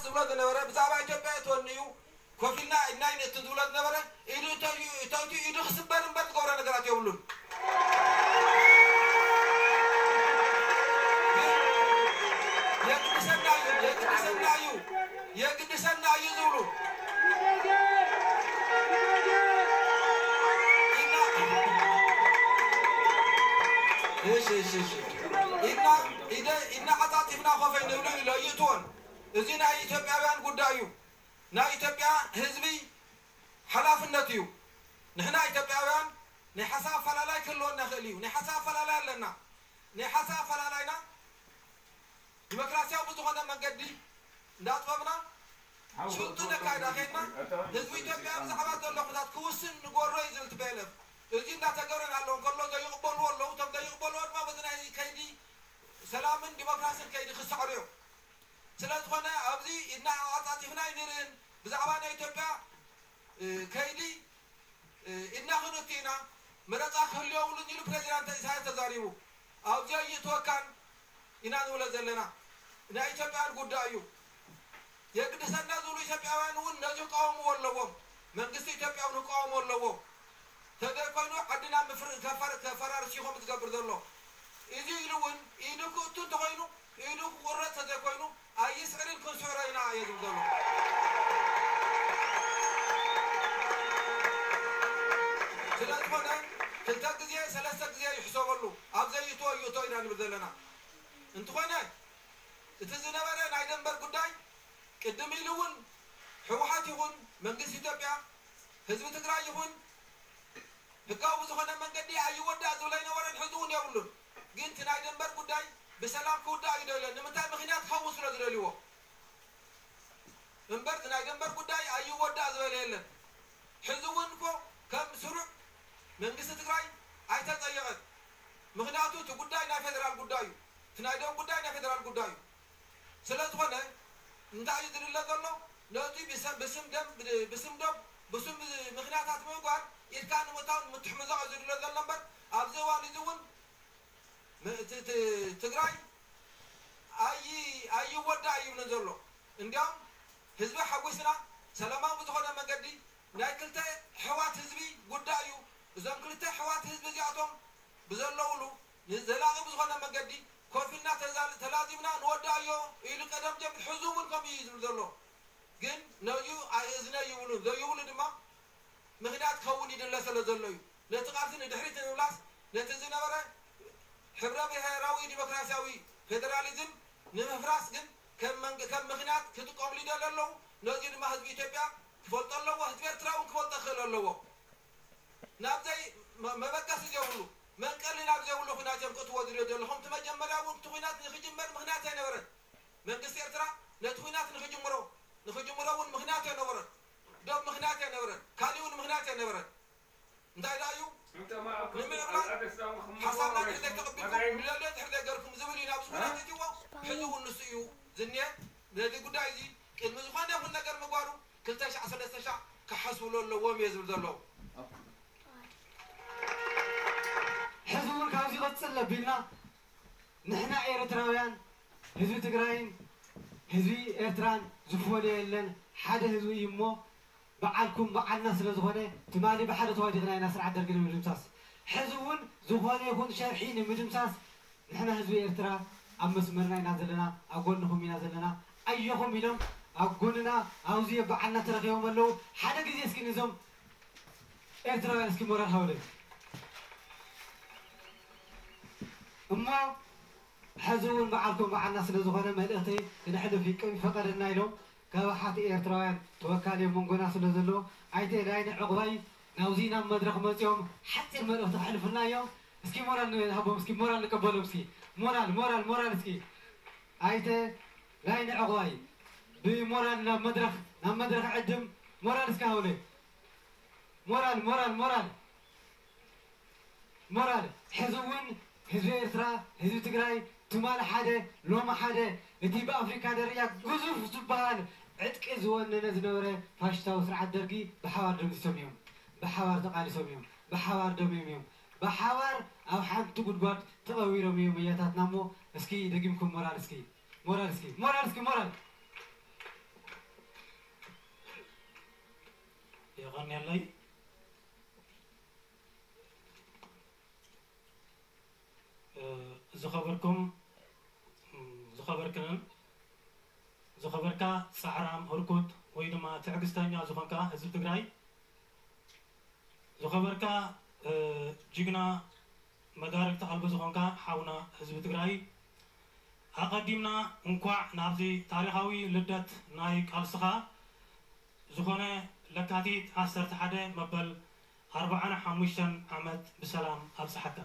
ዝብሎ ዝነበረ ብዛዕባ ኢትዮጵያ እትወኒ እዩ ኮፍ ኢልና ኢድና ይንእትን ዝብሎ ዝነበረ ኢዱ እንተእትዩ ኢዱ ክስበር እምበር ዝገብሮ ነገራት የብሉን። የግድሰና እዩ የግድሰና እዩ የግድሰና እዩ ዝብሉ ኢድና ኢድና ኢድና ዓፃፂፍና ኮፈይ ንብሉ ኢሎ ይእትዎን። እዚ ናይ ኢትዮጵያውያን ጉዳይ እዩ። ናይ ኢትዮጵያ ህዝቢ ሓላፍነት እዩ። ንሕና ኢትዮጵያውያን ናይ ሓሳብ ኣፈላላይ ክህልወና ይኽእል እዩ። ናይ ሓሳብ ኣፈላላይ ኣለና። ናይ ሓሳብ ኣፈላላይና ዲሞክራሲያዊ ብዝኾነ መንገዲ እንዳጥበብና ሽጡ ነካይዳ ኸድና ህዝቢ ኢትዮጵያ ብዛዕባ ዘሎ ኩነታት ክውስን ንጎሮ እዩ ዝብል ትቤለፍ። እዚ እንዳተገብረ እናሎ እንከሎ ዘይቕበልዎ ኣለዉ። እቶም ዘይቕበልዎ ድማ በዚ ናይ ከይዲ ሰላምን ዲሞክራሲን ከይዲ ክሰዕሩ እዮም። ስለ ዝኾነ ኣብዚ ኢድና ኣዓፃፂፍና ኣይንርእን። ብዛዕባ ናይ ኢትዮጵያ ከይዲ ኢድና ክንእቱ ኢና። መረፃ ክህሉ የብሉን ኢሉ ፕሬዚዳንት ኢሳያስ ተዛሪቡ። ኣብዚ ኣይእትወካን ኢና ንብሎ ዘለና። ናይ ኢትዮጵያን ጉዳይ እዩ። የግድሰና ዝብሉ ኢትዮጵያውያን እውን ነዚ ክቃወምዎ ኣለዎም። መንግስቲ ኢትዮጵያ እውን ክቃወሞ ኣለዎ። ተዘይኮይኑ ዓድና ምፍር- ከፈር- ከፈራርስ ኢኹም ዝገብር ዘሎ። እዚ ኢሉ እውን ኢዱ ክእቱ እንተኾይኑ ኢዱ ክቁረፅ ተዘይኮይኑ ኣይስዕርን ክንስዕሮ ኢና እየ ዝብል ዘሎ። ስለዝኾነ ክልተ ግዜ ሰለስተ ግዜ ይሕሰበሉ። ኣብ ዘይእትዎ ይእቶ ኢና ንብል ዘለና። እንትኾነ እቲ ዝነበረ ናይ ደንበር ጉዳይ ቅድም ኢሉ እውን ህወሓት ይኹን መንግስቲ ኢትዮጵያ ህዝቢ ትግራይ ይኹን ህጋዊ ብዝኾነ መንገዲ ኣይወዳእ ዝብለ ኣይነበረን፣ ሕዚ እውን የብሉን። ግን እቲ ናይ ደንበር ጉዳይ ብሰላም ክውዳእ እዩ ደልዮ። ንምንታይ? ምኽንያት ክኸውን ስለ ዝደልይዎ። እምበር እቲ ናይ ደንበር ጉዳይ ኣይወዳእ ዝበለ የለን። ሕዚ እውን እኮ ከም ስሩዕ መንግስቲ ትግራይ ኣይተፀየቐን። ምኽንያቱ እቲ ጉዳይ ናይ ፌደራል ጉዳይ እዩ። እቲ ናይ ደም ጉዳይ ናይ ፌደራል ጉዳይ እዩ። ስለ ዝኾነ እንታይ እዩ ዝድለ ዘሎ? ነቲ ብሰ- ብስም ደም ብስም ደም ብስም ምኽንያታት ምግባር ኢድካ ንምእታው ምትሕምዛቕ እዩ ዝድለ ዘሎ እምበር ኣብዚ እዋን እዚ እውን ም- ት- ት- ትግራይ ኣይ ኣይወዳእ ይብልን ዘሎ። እንዲያውም ህዝቢ ሓጒስና ሰላማዊ ብዝኾነ መንገዲ ናይ ክልተ ኣሕዋት ህዝቢ ጉዳይ እዩ። እዞም ክልተ ኣሕዋት ህዝቢ እዚኣቶም ብዘለውሉ ንዘላቒ ብዝኾነ መንገዲ ኮፍ ኢልና ተዛል- ተላዚምና ንወዳእዮ ኢሉ ቀደም ጀምር ሕዚ እውን ከምኡ እዩ ዝብል ዘሎ። ግን ነዚኡ ኣየእዝነ ይብሉን ዘይብሉ ድማ ምኽንያት ክኸውን ይድለ ስለ ዘሎ እዩ። ነቲ ቃልሲ ንድሕሪት ንምምላስ ነቲ ዝነበረ ሕብረ ብሄራዊ ዲሞክራሲያዊ ፌደራሊዝም ንምፍራስ ግን ከም መንግ- ከም ምኽንያት ክጥቀምሉ ይደልዩ ኣለዉ። ነዚ ድማ ህዝቢ ኢትዮጵያ ክፈልጦ ኣለዎ። ህዝቢ ኤርትራ እውን ክፈልጦ ክኽእል ኣለዎ። ናብ ዘይ መ- መበገሲ ዘይብሉ መንቀሊ ናብ ዘይብሉ ኩናት እዮም ክእትዎ ዝደልዩ ዘለኹም። እቲ መጀመርያ እውን እቲ ኩናት ንክጅመር ምኽንያት ኣይነበረን። መንግስቲ ኤርትራ ነቲ ኩናት ንክጅምሮ ንክጅምሮ እውን ምኽንያት ኣይነበረን። ዶብ ምኽንያት ኣይነበረን። ካሊእ እውን ምኽንያት ኣይነበረን። እንታይ ደኣ እዩ? ንምዕባል ሓሳብና ድሕር ዘይተቐቢልኩም ንደልዮ ድሕር ዘይገርኩም ዝብል እዩ ናብዚ ኩናት እትዎ። ሕዚ እውን ንሱ እዩ ዝኒሀ። ነዚ ጉዳይ እዚ ቅድሚ ዝኾነ ይኹን ነገር ምግባሩ ክልተ ሻዕ ሰለስተ ሻዕ ክሓስብሉ ኣለዎም እየ ዝብል ዘለዉ። ሕዚ እውን ካብዚ ይቐፅል ኣቢልና ንሕና ኤርትራውያን ህዝቢ ትግራይን ህዝቢ ኤርትራን ዝፈለዮ የለን፣ ሓደ ህዝቢ እዩ እሞ በዓልኩም በዓልና ስለ ዝኾነ ትማሊ ብሓደ ተዋዲቕና ኢና ስርዓት ደርጊ ንምድምሳስ። ሕዚ እውን ዝኾነ ይኹን ሸርሒ ንምድምሳስ ንሕና ህዝቢ ኤርትራ ኣብ መስመርና ኢና ዘለና፣ ኣብ ጎንኹም ኢና ዘለና፣ ኣየኹም ኢሎም ኣብ ጎንና ኣብዚ በዓልና ተረኺቦም ኣለዉ። ሓደ ግዜ እስኪ ንዞም ኤርትራውያን እስኪ ሞራል ሃቡለይ እሞ ሕዚ እውን በዓልኩም በዓልና ስለ ዝኾነ መልእኽተይ ክነሕልፍ ይፈቐደልና ኢሎም ካብ ሓቲ ኤርትራውያን ተወካሊ ኣብ መንጎና ስለ ዘሎ ኣይተ ላይነ ዕቑባይ ናብዚ ናብ መድረኽ መፂኦም ሓፂር መልእኽቲ ከሕልፉልና እዮም። እስኪ ሞራል ንሃቦም፣ እስኪ ሞራል ንቀበሎም፣ እስኪ ሞራል ሞራል ሞራል እስኪ ኣይተ ላይነ ዕቑባይ ብሞራል ናብ መድረኽ ናብ መድረኽ ዕድም ሞራል እስኪ ሃውለይ ሞራል ሞራል ሞራል ሞራል ሕዚ እውን ህዝቢ ኤርትራ ህዝቢ ትግራይ ትማሊ ሓደ ሎሚ ሓደ እቲ ብኣፍሪካ ደረጃ ግዙፍ ዝበሃል ዕጥቂ ዝወነነ ዝነበረ ፋሽስታዊ ስርዓት ደርጊ ብሓባር ደምሲሶም እዮም። ብሓባር ተቓሊሶም እዮም። ብሓባር ደምዮም እዮም። ብሓባር ኣብ ሓንቲ ጉድጓድ ተቐቢሮም እዮም ኣያታትና እሞ እስኪ ደጊምኩም ሞራል እስኪ ሞራል እስኪ ሞራል እስኪ ሞራል ኣንያለይ። እ፣ ዝኸበርኩም፣ እም፣ ዝኸበርክንን ዝኸበርካ ጻዕራም ህርኩት ወይ ድማ ትዕግስተኛ ዝኾንካ ህዝቢ ትግራይ፣ ዝኸበርካ፣ እ፣ ጅግና መዳርግቲ ኣልቦ ዝኾንካ ሓውና ህዝቢ ትግራይ፣ ኣቐዲምና እንኳዕ ናብዚ ታሪኻዊ ልደት ናይ ቃልስኻ ዝኾነ ለካቲት ዓሰርተ ሓደ መበል ኣርብዓን ሓሙሽተን ዓመት ብሰላም ኣብጽሓካ።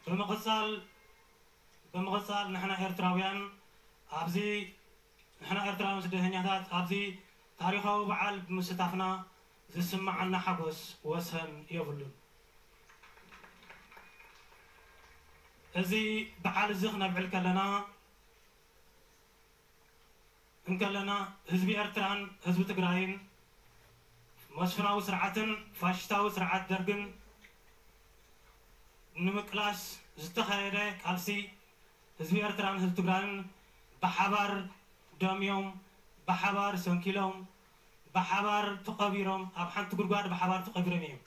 ብምቕጻል፣ ብምቕጻል ንሕና ኤርትራውያን ኣብዚ፣ ንሕና ኤርትራውያን ስደተኛታት ኣብዚ ታሪኻዊ በዓል ብምስታፍና ዝስምዓና ሓጎስ ወሰን የብሉን። እዚ በዓል እዚ ክነብዕል ከለና፣ እንከለና፣ ህዝቢ ኤርትራን ህዝቢ ትግራይን መስፍናዊ ስርዓትን ፋሽስታዊ ስርዓት ደርግን ንምቅላስ ዝተኻየደ ቃልሲ፣ ህዝቢ ኤርትራን ህዝቢ ትግራይን ብሓባር ደምዮም፣ ብሓባር ሰንኪሎም፣ ብሓባር ተቐቢሮም፣ ኣብ ሓንቲ ጉድጓድ ብሓባር ተቐቢሮም እዮም።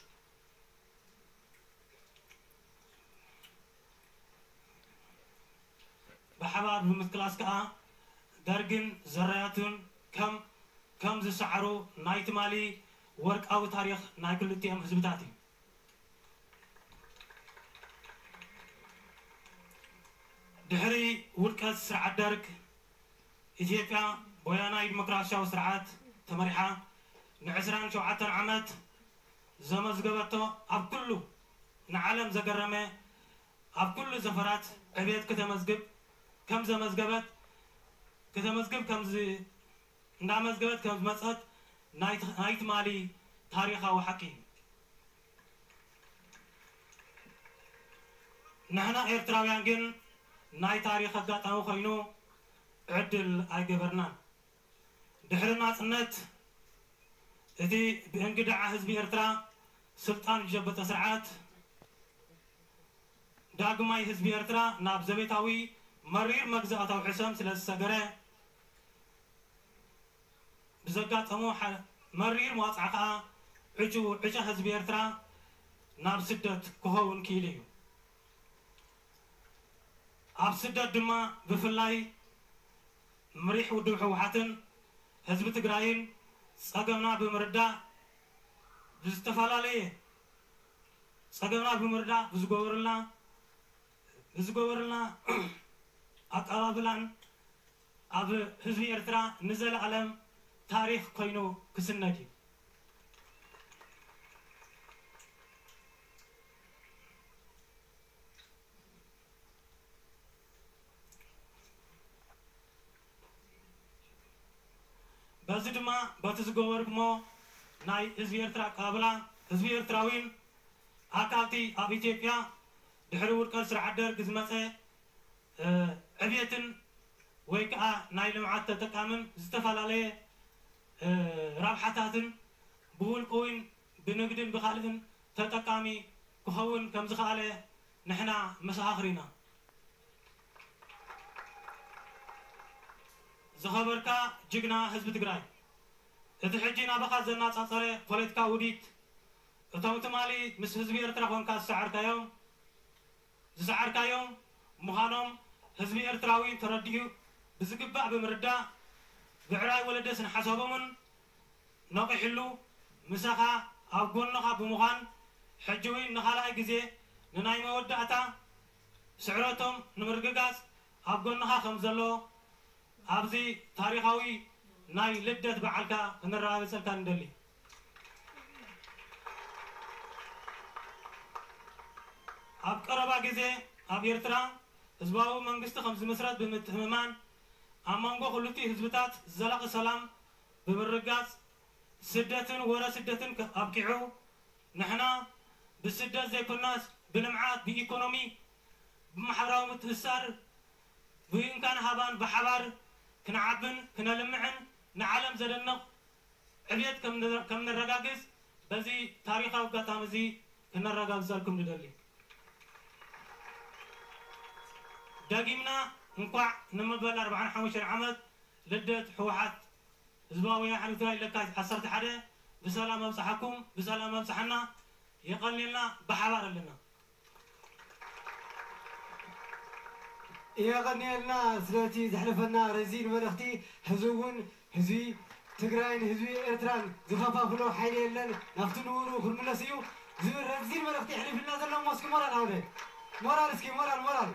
ብሓባር ብምቅላስ ከኣ ደርግን ዘራያቱን ከም፣ ከም ዝሰዓሩ ናይ ትማሊ ወርቃዊ ታሪኽ ናይ ክልቲኦም ህዝብታት እዩ። ድሕሪ ውድቀት ስርዓት ደርግ፣ ኢትዮጵያ ብወያናይ ዲሞክራሲያዊ ስርዓት ተመሪሓ ንዕስራን ሸውዓተን ዓመት ዘመዝገበቶ፣ ኣብ ኩሉ ንዓለም ዘገረመ፣ ኣብ ኩሉ ዘፈራት ዕብየት ከተመዝግብ ከም ዘመዝገበት፣ ከተመዝግብ ከም ዝ-፣ እንዳመዝገበት ከም ዝመጸት ናይ፣ ናይ ትማሊ ታሪኻዊ ሓቂ እዩ። ንሕና ኤርትራውያን ግን ናይ ታሪኽ ኣጋጣሚ ኮይኑ ዕድል ኣይገበርናን። ድሕሪ ናጽነት፣ እቲ ብእንግድዓ ህዝቢ ኤርትራ ስልጣን ዝጨበጠ ስርዓት፣ ዳግማይ ህዝቢ ኤርትራ ናብ ዘቤታዊ መሪር መግዛእታዊ ሕሰም ስለ ዝሰገረ፣ ብዘጋጠሞ ሓ-፣ መሪር መዋጽዓ ከኣ ዕጩ፣ ዕጫ ህዝቢ ኤርትራ ናብ ስደት ክኸውን ክኢሉ እዩ። ኣብ ስደት ድማ ብፍላይ ምሪሕ ውድብ ህወሓትን ህዝቢ ትግራይን ጸገምና ብምርዳእ ብዝተፈላለየ፣ ጸገምና ብምርዳእ ብዝገበሩልና፣ ብዝገበሩልና ኣቀባብላን ኣብ ህዝቢ ኤርትራ ንዘለኣለም ታሪኽ ኮይኑ ክስነድ እዩ። በዚ ድማ በቲ ዝገበርኩሞ ናይ ህዝቢ ኤርትራ ኣቀባብላ፣ ህዝቢ ኤርትራዊን ኣካልቲ ኣብ ኢትዮጵያ ድሕሪ ውድቀት ስርዓት ደርግ ዝመጸ፣ እ፣ ዕብየትን ወይ ከዓ ናይ ልምዓት ተጠቃምን ዝተፈላለየ፣ እ፣ ረብሓታትን ብውልቂ እውን ብንግድን ብኻልእን ተጠቃሚ ክኸውን ከም ዝኸኣለ ንሕና መሰኻኽር ኢና። ዝኸበርካ ጅግና ህዝቢ ትግራይ፣ እቲ ሕጂ ናባኻ ዘነጻጸረ ፖለቲካዊ ውዲት፣ እቶም ትማሊ ምስ ህዝቢ ኤርትራ ኮንካ ዝሰዓርካዮም፣ ዝሰዓርካዮም ምዃኖም ህዝቢ ኤርትራዊ ተረዲኡ ብዝግባእ ብምርዳእ፣ ብዕራይ ወለደ ስነ ሓሳቦምን ነቒሕሉ ምሳኻ ኣብ ጎንኻ ብምዃን፣ ሕጂ እውን ንኻልኣይ ግዜ ንናይ መወዳእታ ስዕረቶም ንምርግጋጽ ኣብ ጎንኻ ከም ዘሎ ኣብዚ ታሪኻዊ ናይ ልደት በዓልካ ክነረጋግጸልካ ንደሊ። ኣብ ቀረባ ግዜ ኣብ ኤርትራ ህዝባዊ መንግስቲ ከም ዝምስረት ብምትእምማን፣ ኣብ መንጎ ክልቲኡ ህዝብታት ዘላቒ ሰላም ብምርጋጽ፣ ስደትን ወረ ስደትን ከ-፣ ኣብቂዑ፣ ንሕና ብስደት ዘይኮናስ ብልምዓት፣ ብኢኮኖሚ፣ ብማሕበራዊ ምትእስሳር፣ ብእንካን ሃባን ብሓባር ክንዓብን ክነልምዕን ንዓለም ዘደንቕ ዕብየት ከም ን-፣ ከም ነረጋግጽ በዚ ታሪኻዊ ኣጋጣሚ እዚ ክነረጋግጸልኩም ንደሊ። ደጊምና እንኳዕ ንመበል ኣርብዓን ሓሙሽተን ዓመት ልደት ህወሓት ህዝባዊ ወያነ ሓርነት ትግራይ ለካቲት ዓሰርተ ሓደ ብሰላም ኣብፀሓኩም፣ ብሰላም ኣብፀሓና። የቐንየልና፣ ብሓባር ኣለና። የቐንየልና ስለቲ ዘሕለፈና ረዚን መልእኽቲ። ሕዚ እውን ህዝቢ ትግራይን ህዝቢ ኤርትራን ዝኸፋፍሎ ሓይሊ የለን፣ ናብቲ ንቡሩ ክንምለስ እዩ ዝብል ረዚን መልእኽቲ የሕሊፍልና ዘሎ እሞ እስኪ ሞራል ሃውደ ሞራል እስኪ ሞራል ሞራል